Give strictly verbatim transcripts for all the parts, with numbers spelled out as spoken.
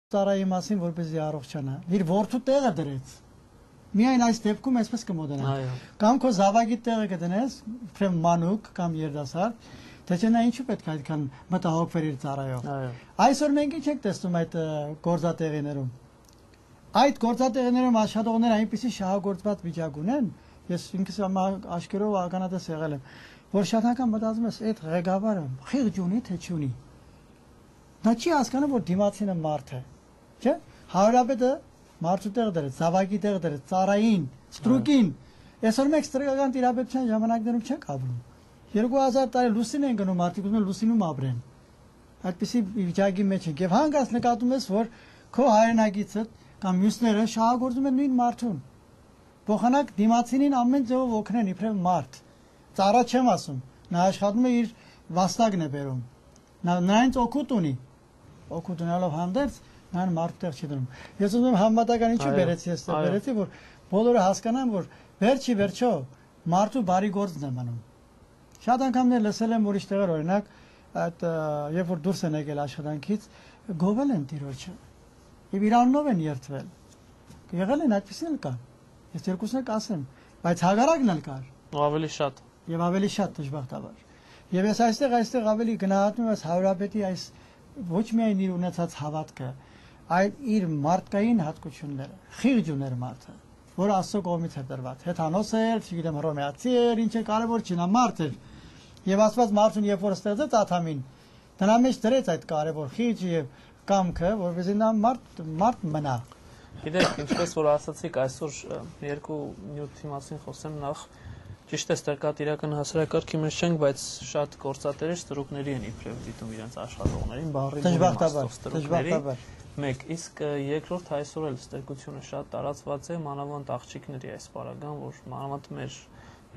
Ծառայի մասին որպեսզի առողջանա։ Իր որդու տեղը դրեց։ Միայն այս դեպքում այսպես կմոդենա։ Կամ քո զավակի տեղը կդնես, իբրև մանուկ կամ երդասարդ, թե չէ նա ինչու պետք է այդքան մտահոգվեր իր ծառայով։ Այսօր մենք ինչ ենք տեսնում այդ գործատեղիներում։ Այդ գործատեղիներում աշխատողները այնպեսի շահագործված վիճակ ունեն, ես ինքս աշկերով ականատես եղել եմ, որ շատ անգամ մտածում ես, այդ ղեկավարը խիղճ ունի թե չունի։ Նա չի հասկանում, որ դիմացինը մարդ է։ Չէ՞։ Հարաբեդը մարդու տեղ դրեց, զավակի տեղ դրեց, ծառային, ստրուկին։ Այսօր մենք ստրկական տիրապետության ժամանակներում չենք ապրում։ երկու հազար տարի լուսին են գնում, մարդիկ ուզում են լուսինում ապրեն։ Այդպիսի վիճակի մեջ ենք եւ հանգած նկատում ես, որ քո հայրենագիցը կամ մյուսները շահագործում են նույն մարդուն։ Փոխանակ դիմացինին ամեն ձևով օգնեն իբրև մարդ։ Ծառա չեմ ասում, նա աշխատում է իր վաստակն է բերում։ Նա նրանց օգուտ ունի։ Օգուտ ունենալով հանդերձ ನಾನು մարդտեղ չի դնում։ Ես ուզում եմ համատական ինչու բերեցի ես բերեցի, որ բոլորը հասկանան, որ վերջի վերջո մարդու բարի գործն է մնում։ Շատ անգամներ լսել եմ ուրիշ տեղեր, օրինակ, այդ երբ որ դուրս են եկել աշխատանքից, գովել են տիրոջը։ Եվ իրանով են երթվել։ Եղել են այդպեսին էլ կան։ Ես երկուսն էլ կասեմ, բայց հագարակն էլ կար։ Ավելի շատ։ Եվ ավելի շատ դժբախտաբար։ Եվ ես այստեղ այստեղ ավելի գնահատում եմ հարաբետի այս ոչ միայն իր ունեցած հավատքը, այլ իր մարդկային հատկությունները, խիղճ ուներ մարդը, որ Աստծո կողմից է տրված, հեթանոս էր, չգիտեմ հռոմեացի էր, ինչ է կարևոր չի, նա մարդ էր։ Եվ Աստված մարդուն երբ որ ստեղծեց Ադամին, դրա մեջ դրեց այդ կարևոր խիղճը եւ կամքը, որովհետեւ նա մարդ մարդ մնա։ Գիտեք, ինչպես որ ասացիք, այսօր երկու նյութի մասին խոսեմ, նախ ճիշտ է ստրկատիրական հասարակարգի մեջ չենք, բայց շատ գործատերեր ստրուկների են իբրև դիտում իրենց աշխատողներին, բառի դժբախտաբար։ Մեկ, իսկ երկրորդ այսօր էլ ստրկությունը շատ տարածված է, մանավանդ աղջիկների այս պարագան, որ մանավանդ մեր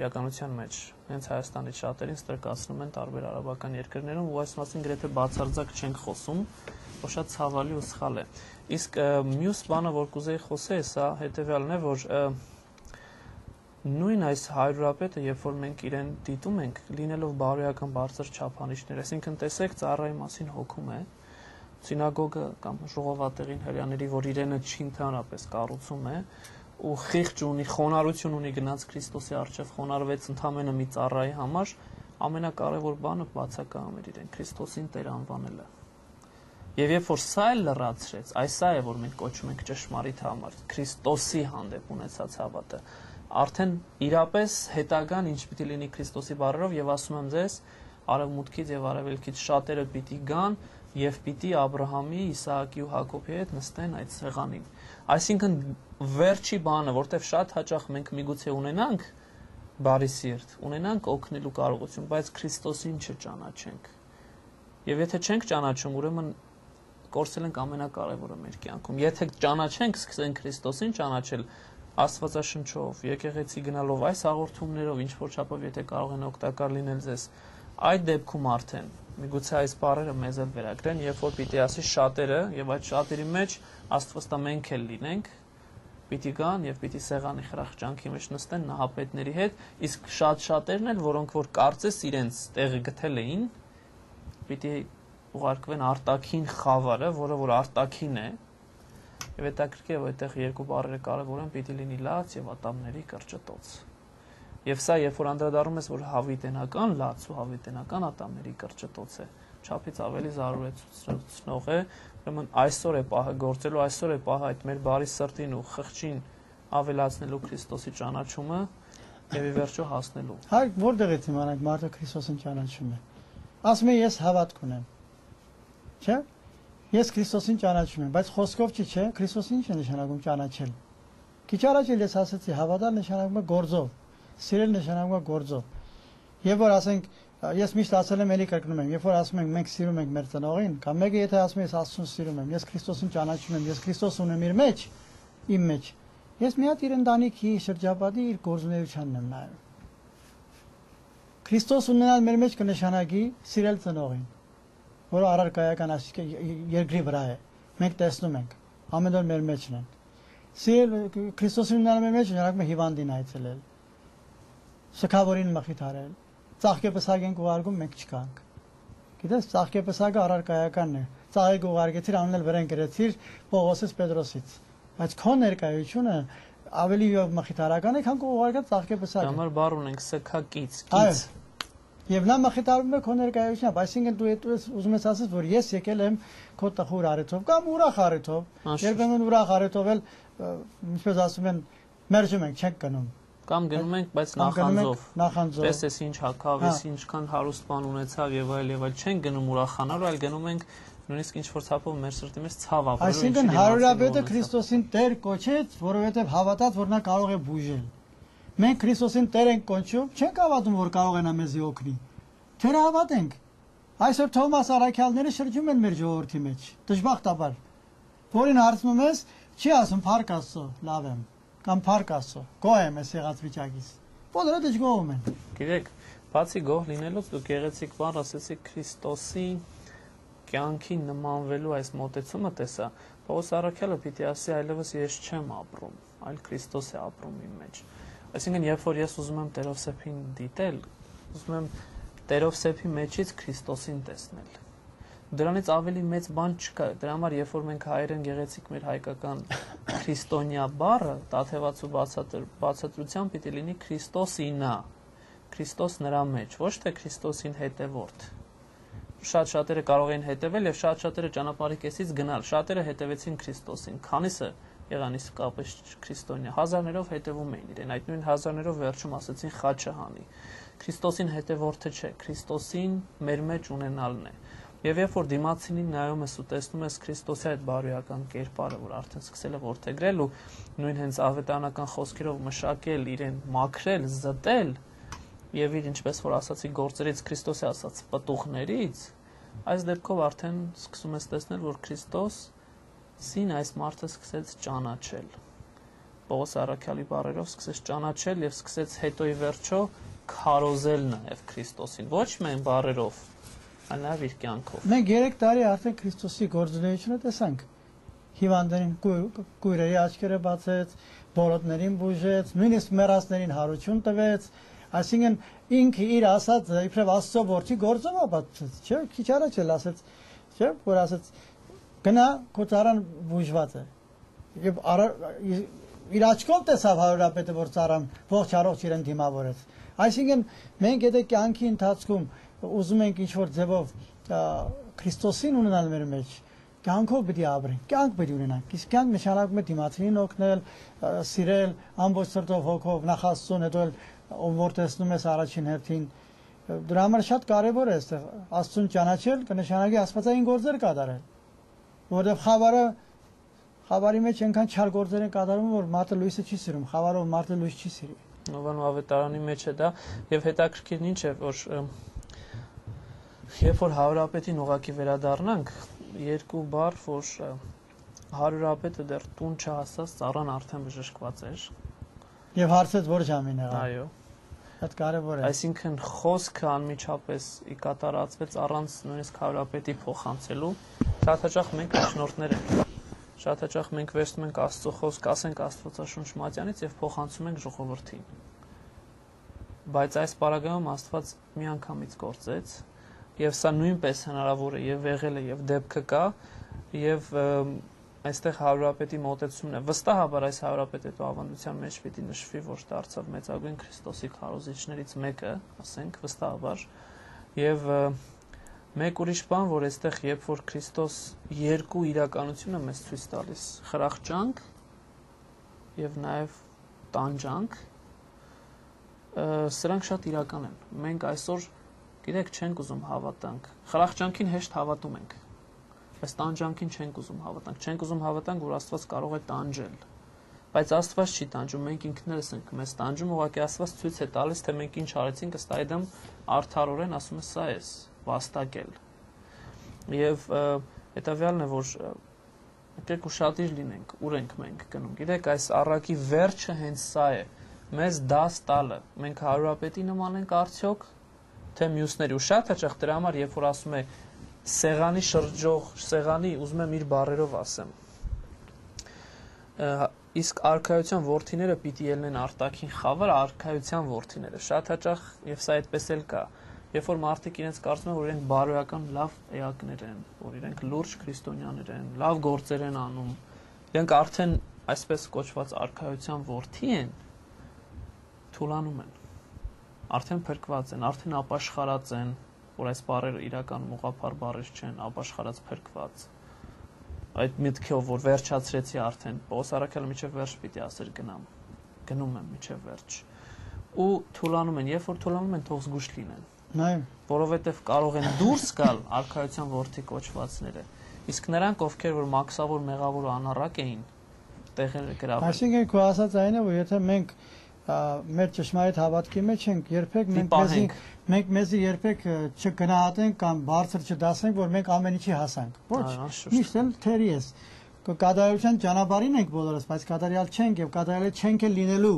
իրականության մեջ հենց Հայաստանից շատերին ստրկացնում են տարբեր արաբական երկրներում, ու այս մասին գրեթե բացարձակ չենք խոսում, որ շատ ցավալի ու սխալ է։ Իսկ մյուս բանը, որ կուզեի խոսել, սա հետեւյալն է, որ նույն այս հայրապետը, երբ որ մենք իրեն դիտում ենք, լինելով բարոյական բարձր չափանիշներ, այսինքն տեսեք ծառայի մասին հոգում է, սինագոգը կամ ժողովատեղին հրյաների, որ իրենը չի ընդհանրապես կառուցում է, ու խիղճ ունի, խոնարհություն ունի գնաց Քրիստոսի առջև խոնարհվեց ընդամենը մի ծառայի համար, ամենակարևոր բանը բացակայում էր իրեն Քրիստոսին Տեր անվանելը։ Եվ երբ որ սա էլ լրացրեց, այս սա է, որ մենք կոչում ենք ճշմարիտ համար, Քրիստոսի հանդեպ ունեցած հավատը, արդեն իրապես հետագան ինչ պիտի լինի Քրիստոսի բառերով, եւ ասում եմ ձեզ, արևմուտքից եւ արևելքից շատերը պիտի գան եւ պիտի Աբրահամի, Իսահակի ու Հակոբի հետ նստեն այդ սեղանին։ Այսինքն վերջի բանը, որտեվ շատ հաճախ մենք միգուցե ունենանք բարի սիրտ, ունենանք օգնելու կարողություն, բայց Քրիստոսին չճանաչենք։ Եվ եթե չենք ճանաչում, ուրեմն կորցել ենք ամենակարևորը մեր կյանքում։ Եթե ճանաչենք, սկսենք Քրիստոսին ճանաչել Աստվածաշնչով, եկեղեցի գնալով, այս հաղորդումներով, ինչ որ չափով եթե կարող են օգտակար լինել ձեզ, այդ դեպքում արդեն միգուցե այս բառերը մեզ էլ վերագրեն, երբ որ պիտի ասի շատերը, եւ այդ շատերի մեջ Աստվածտա մենք էլ լինենք, պիտի գան եւ պիտի սեղանի խրախճանքի մեջ նստեն նահապետների հետ, իսկ շատ շատերն էլ, որոնք որ կարծես իրենց տեղը գտել էին, պիտի ուղարկվեն արտաքին խավարը, որը որ արտաքին է, եւ հետաքրքիր է, որ այդտեղ երկու բառերը կարեւոր են, պիտի լինի լաց եւ ատամների կրճտոց։ Եվ սա երբ որ անդրադառնում ես, որ հավիտենական լաց ու հավիտենական ատամների կրճտոց է, չափից ավելի զարուրեցնող է, ուրեմն այսօր է պահը գործելու, այսօր է պահը այդ մեր բարի սրտին ու խղճին ավելացնելու Քրիստոսի ճանաչումը եւ ի վերջո հասնելու։ Հայ որտեղից իմանանք մարդը Քրիստոսին ճանաչում է։ Ասում է ես հավատք ունեմ։ Չէ՞։ Ես Քրիստոսին ճանաչում եմ, բայց խոսքով չի, չէ՞։ Քրիստոսին ինչ է նշանակում ճանաչել։ Քիչ առաջ էլ ես ասացի, հավատալ նշանակում է գործով, սիրել նշանակում է գործով։ Եվ որ ասենք, ես միշտ ասել եմ, էլի կրկնում եմ, երբ որ ասում ենք մենք սիրում ենք մեր ծնողին, կամ մեկը եթե ասում է ես Աստծուն սիրում եմ, ես Քրիստոսին ճանաչում եմ, ես Քրիստոս ունեմ իր մեջ, իմ մեջ, ես մի հատ իր ընտանիքի շրջապատի իր գործունեությանն եմ նայում։ Քրիստոս ունենալ մեր մեջ կնշանակի սիրել ծնողին, որը առարկայական երկրի վրա է, մենք տեսնում ենք, ամեն օր մեր մեջն են։ Սիրել Քրիստոսին ունենալ մեր մեջ նշանակում է հիվանդին այցելել, շքավորին մխիթարել, ծաղկեպսակ ենք ուղարկում, մենք չկանք։ Գիտես, ծաղկեպսակը առարկայականն է, ծաղիկ ուղարկեցիր, անունել վրան գրեցիր Պողոսից Պետրոսից։ Բայց քո ներկայությունը ավելի մխիթարական է, քան քո ուղարկած ծաղկե պսակը։ Համար բառ ունենք սքակից, կից։ Եվ նա մխիթարվում է քո ներկայությամբ, այսինքն դու ուզում ես ասես, որ ես եկել եմ քո տխուր առիթով կամ ուրախ առիթով, երբեմն ուրախ առիթով էլ, ինչպես ասում են, մերժում ենք, չենք գնում։ Կամ գնում ենք, բայց նախանձով։ Նախանձով։ Պես էս ինչ հակավ, էս ինչքան հարուստ բան ունեցավ եւ այլ եւ այլ, չենք գնում ուրախանալու, այլ գնում ենք նույնիսկ ինչ որ ցապով մեր սրտի մեջ ցավ ապրել։ Այսինքն հարյուրապետը Քրիստոսին Տեր կոչեց, որովհետեւ հավատաց, որ նա կարող է բուժել։ Մենք Քրիստոսին Տեր ենք կոչում, չենք հավատում, որ կարող է նա մեզի օգնի։ Թերահավատենք։ Այսօր Թոմաս Արաքյալները շրջում են մեր ժողովրդի մեջ, դժբախտաբար։ Որին հարցնում ես, չի ասում Փառք Աստծո, լավ եմ, կամ Փառք Աստծո, գոհ եմ ես եղած վիճակից։ Բոլորը դժգոհում են։ Գիտեք, բացի գոհ լինելուց դու գեղեցիկ բան ասեցիք Քրիստոսի կյանքին նմանվելու այս մոտեցումը տեսա, Պողոս Առաքյալը պիտի ասի այլևս ես չեմ ապրում, այլ Քրիստոս է ապրում իմ մեջ։ Այսինքն, երբ որ ես ուզում եմ Տերով սեփին դիտել, ուզում եմ Տերով սեփի մեջից Քրիստոսին տեսնել։ Դրանից ավելի մեծ բան չկա։ Դրա համար, երբ որ մենք հայերեն գեղեցիկ մեր հայկական քրիստոնյա բառը, տաթևացու բացատրությամբ պիտի լինի Քրիստոսինա, Քրիստոս նրա մեջ, ոչ թե Քրիստոսին հետևորդ։ Շատ շատերը կարող էին հետևել եւ շատ շատերը ճանապարհի կեսից գնալ։ Շատերը հետևեցին Քրիստոսին, քանիսը եղան իսկապես քրիստոնյա, հազարներով հետևում էին իրեն, այդ նույն հազարներով վերջում ասեցին խաչը հանի։ Քրիստոսին հետևորդը չէ, Քրիստոսին մեր մեջ ունենալն է։ Եվ երբ որ դիմացինին նայում ես ու տեսնում ես Քրիստոսի այդ բարոյական կերպարը, որ արդեն սկսել է որդեգրել ու նույն հենց ավետարանական խոսքերով մշակել իրեն, մաքրել, զտել, եւ իր ինչպես որ ասացի գործերից Քրիստոսի ասած պտուղներից, այս դեպքով արդեն սկսում ես տեսնել, որ Քրիստոսին այս մարդը սկսեց ճանաչել։ Պողոս Առաքյալի բառերով սկսեց ճանաչել եւ սկսեց հետո ի վերջո քարոզել նաեւ Քրիստոսին, ոչ միայն բառերով, այլ նաեւ իր կյանքով։ Մենք երեք տարի արդեն Քրիստոսի գործունեությունը տեսանք։ Հիվանդներին կույրերի աչքերը բացեց, բորոտներին բուժեց, նույնիսկ մեռածներին հարություն տվեց։ Այսինքն ինքը իր ասած իբրև Աստծո որդի գործով ապացուցեց, չէ՞, քիչ առաջ էլ ասեց, չէ՞, որ ասեց գնա քո ծառան բուժված է։ Եվ իր աչքով տեսավ հարյուրապետը, որ ծառան ողջ առողջ իրեն դիմավորեց։ Այսինքն մենք եթե կյանքի ընթացքում ուզում ենք ինչ-որ ձևով Քրիստոսին ունենալ մեր մեջ, կյանքով պիտի ապրենք, կյանք պիտի ունենանք։ Իսկ կյանք նշանակում է դիմացինին օգնել, սիրել, ամբողջ սրտով հոգով, նախ Աստծուն, հետո էլ ով որ տեսնում ես առաջին հերթին, դրա համար շատ կարևոր է այստեղ Աստծուն ճանաչել, կնշանակի աստվածային գործեր կատարել, որովհետև խավարը խավարի մեջ այնքան չար գործեր են կատարում, որ մարդը լույսը չի սիրում, խավարով մարդը լույս չի սիրի։ Նովան ավետարանի մեջ է դա, եւ հետաքրքիրն ինչ է, որ երբ որ հարյուրապետին ուղակի վերադառնանք, երկու բառ, որ հարյուրապետը դեռ տուն չհասած ծառան արդեն բժշկված էր։ Եվ հարցեց որ ժամին եղավ։ Այո։ Այդ կարևոր է։ Այսինքն խոսքը անմիջապես ի կատարածվեց առանց նույնիսկ հարյուրապետի փոխանցելու։ Շատ հաճախ մենք շնորհներ ենք։ Շատ հաճախ մենք վերցնում ենք Աստծո խոսք, ասենք Աստվածաշունչ մատյանից եւ փոխանցում ենք ժողովրդին։ Բայց այս պարագայում Աստված միանգամից գործեց, եւ սա նույնպես հնարավոր է եւ եղել է եւ դեպքը կա, եւ այստեղ հարյուրապետի մոտեցումն է։ Վստահաբար այս հարյուրապետի ավանդության մեջ պիտի նշվի, որ դարձավ մեծագույն Քրիստոսի քարոզիչներից մեկը, ասենք վստահաբար, եւ մեկ ուրիշ բան, որ այստեղ երբ որ Քրիստոս երկու իրականություն է մեզ ցույց տալիս, խրախճանք եւ նաեւ տանջանք, սրանք շատ իրական են։ Մենք այսօր գիտեք չենք ուզում հավատանք։ Խրախճանքին հեշտ հավատում ենք։ Բայց տանջանքին չենք ուզում հավատանք, չենք ուզում հավատանք, որ Աստված կարող է տանջել։ Բայց Աստված չի տանջում, մենք ինքներս ենք մեզ տանջում, ուղղակի Աստված ցույց է տալիս, թե մենք ինչ արեցինք, ըստ այդմ արդարորեն ասում է սա է, վաստակել։ Եվ հետավյալն է, որ եկեք ուշադիր լինենք, ուր ենք մենք գնում։ Գիտեք, այս առակի վերջը հենց սա է, մեզ դաս տալը։ Մենք հարյուրապետի նման ենք արդյոք, թե մյուսների։ Ու շատ հաճախ դրա համար, երբ որ ասում է սեղանի շրջող, սեղանի, ուզում եմ իր բառերով ասեմ, իսկ արքայության որդիները պիտի ելնեն արտաքին խավար, արքայության որդիները, շատ հաճախ, եւ սա այդպես էլ կա, Երբ որ մարդիկ իրենց կարծում են, որ իրենք բարոյական լավ էակներ են, որ իրենք լուրջ քրիստոնյաներ են, լավ գործեր են անում, իրենք արդեն այսպես կոչված արքայության որդի են, թուլանում են, արդեն փրկված են, արդեն ապաշխարած են, որ այս բառերը իրականում ուղղափառ բառեր չեն, ապաշխարած փրկված։ Այդ միտքով, որ վերջացրեցի արդեն, Պողոս առաքյալը միջև վերջ պիտի ասեր գնամ, գնում եմ միջև վերջ, ու թուլանում են, երբ որ թուլանում են, թող զգուշ լինեն, որովհետև կարող են դուրս գալ արքայության որդի կոչվածները, իսկ նրանք, ովքեր որ մաքսավոր, մեղավոր ու անառակ էին, տեղերը գրավել։ Այսինքն քո ասած այն է, որ եթե մենք մեր ճշմարիտ հավատքի մեջ ենք, երբեք մենք մեզի մենք մեզի երբեք չգնահատենք կամ բարձր չդասենք, որ մենք ամեն ինչի հասանք։ Ոչ, միշտ էլ թերի ես։ Կատարյալության ճանապարհին ենք բոլորս, բայց կատարյալ չենք եւ կատարյալ չենք էլ լինելու,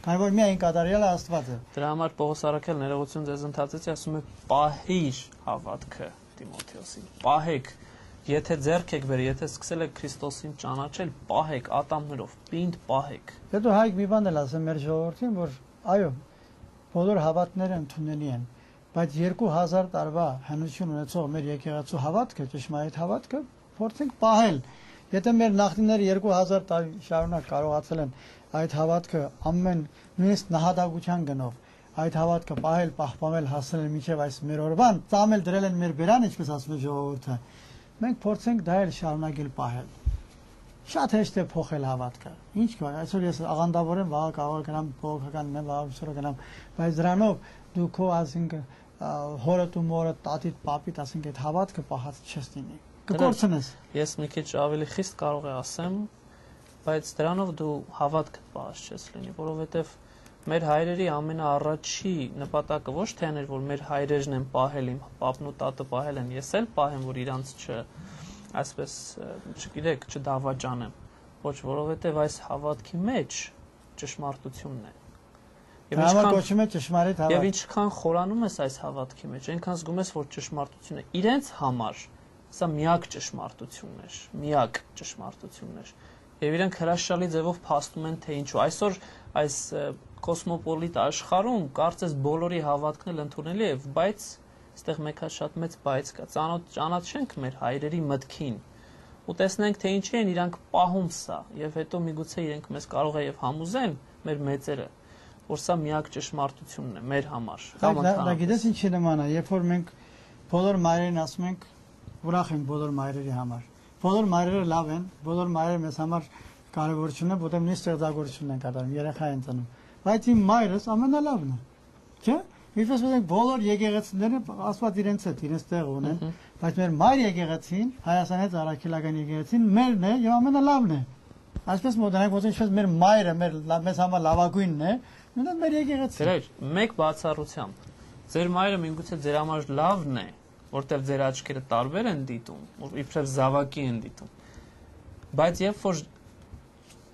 քանի որ միայն կատարյալը Աստված է։ Դրա համար Պողոս առաքյալ ներողություն ձեզ ընդհատեցի, ասում է պահիր հավատքը Տիմոթեոսին։ Պահեք, եթե ձեռք եք բերել, եթե սկսել եք Քրիստոսին ճանաչել, պահեք ատամներով, պինդ պահեք։ Հետո Հայկ մի բան էլ ասեմ մեր ժողովրդին, որ այո, բոլոր հավատքները ընդունելի են, բայց երկու հազար տարվա հնություն ունեցող մեր եկեղեցու հավատքը, ճշմարիտ հավատքը, փորձենք պահել։ Եթե մեր նախնիները երկու հազար տարի շարունակ կարողացել են այդ հավատքը ամեն նույնիսկ նահատակության գնով այդ հավատքը պահել, պահպանել, հասնել մինչև այս մեր օրվան, ծամել դրել են մեր բերան, ինչպես ասում է ժողովուրդը, մենք փորձենք դա էլ շարունակել պահել։ Շատ հեշտ է փոխել հավատքը։ Ինչ կա, այսօր ես աղանդավոր եմ, վաղը կարող գնամ բողոքական մեն, վաղը ուսորը գնամ, բայց դրանով դու քո ասինք հորդ ու մորդ, տատիդ, պապիդ, ասինք այդ հավատքը պահած չես լինի։ Կկորցնես։ Ես մի քիչ ավելի խիստ կարող եմ ասեմ, բայց դրանով դու հավատքդ պահած չես լինի, որովհետև մեր հայրերի ամենաառաջի նպատակը ոչ թե այն էր, որ մեր հայրերն են պահել, իմ պապն ու տատը պահել են, ես էլ պահեմ, որ իրանց չ, այսպես, չգիտեք, չդավաճանեմ, ոչ, որովհետև այս հավատքի մեջ ճշմարտությունն է։ Եվ ինչքան խորանում ես այս հավատքի մեջ, այնքան զգում ես, որ ճշմարտությունը իրենց համար սա միակ ճշմարտությունն էր, միակ ճշմարտությունն էր։ Եվ իրենք հրաշալի ձևով փաստում են, թե ինչու։ Այսօր այս կոսմոպոլիտ աշխարհում կարծես բոլորի հավատքն էլ ընդունելի է, բայց այստեղ մեկ հատ շատ մեծ բայց կա։ Ճանաչենք մեր հայրերի մտքին ու տեսնենք, թե ինչի են իրանք պահում սա, եւ հետո միգուցե իրենք մեզ կարող է եւ համոզեն մեր մեծերը, որ սա միակ ճշմարտությունն է մեր համար։ Դա գիտես ինչի նման է, երբ որ մենք բոլոր մայրերին ասում ենք, ուրախ ենք բոլոր մայրերի համար։ Բոլոր մայրերը լավ են, բոլոր մայրերը մեզ համար կարևոր չունեն, որտեղ նույն ստեղծագործությունն են կատարում, երեխա են ծնում։ Բայց իմ մայրս ամենալավն է։ Չէ՞։ Ինչպես ասենք, բոլոր եկեղեցիները Աստված իրենց հետ, իրենց տեղ ունեն, բայց մեր մայր եկեղեցին, Հայաստանից առաքելական եկեղեցին մերն է եւ ամենալավն է։ Այսպես մոտենանք, ոնց ինչպես մեր մայրը մեր մեզ համար լավագույնն է, նույնիսկ մեր եկեղեցին։ Դեր մեկ բացառությամբ։ Ձեր մայրը միգուցե ձեր համար լավն է, որտեղ ձեր աչքերը տարբեր են դիտում, որ իբրև զավակի են դիտում։ Բայց երբ որ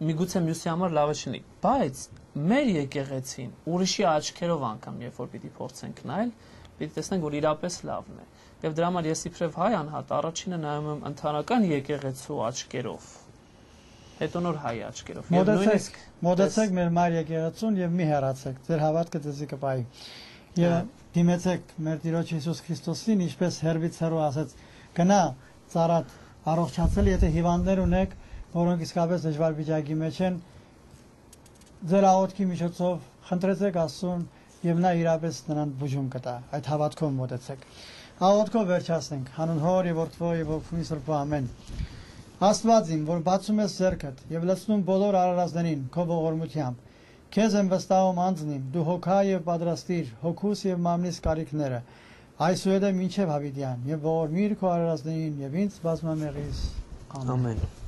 միգուցե մյուսի համար լավը չլինի, բայց մեր եկեղեցին ուրիշի աչքերով անգամ երբ որ պիտի փորձենք նայել, պիտի տեսնենք, որ իրապես լավն է։ Եվ դրա համար ես իբրև հայ անհատ առաջինը նայում եմ ընդհանրական եկեղեցու աչքերով, հետո նոր հայ աչքերով։ Եվ նույնիսկ մոտեցեք մեր մայր եկեղեցուն եւ մի հեռացեք, ձեր հավատքը ձեզի կպահի։ Եվ դիմեցեք մեր Տիրոջ Հիսուս Քրիստոսին, ինչպես հերվից հեռու ասեց, գնա ծառատ առողջացել, եթե հիվանդներ ունեք, որոնք իսկապես դժվար վիճակի մեջ են, ձեր աղոթքի միջոցով խնդրեցեք Աստծուն եւ նա իրապես նրան բուժում կտա։ Այդ հավատքով մոտեցեք։ Աղոթքով վերջացնենք։ Հանուն Հոր եւ Որդու եւ Ոգու Սուրբ ամեն։ Աստված իմ, որ բացում ես ձեռքդ եւ լցնում բոլոր արարածներին քո ողորմությամբ, քեզ եմ վստահում անձնիմ, դու հոգա եւ պատրաստիր հոգուս եւ մամնիս կարիքները, այսուհետև մինչև հավիտյան եւ ողորմիր քո արարածներին եւ ինձ բազմամեղիս։ Ամեն։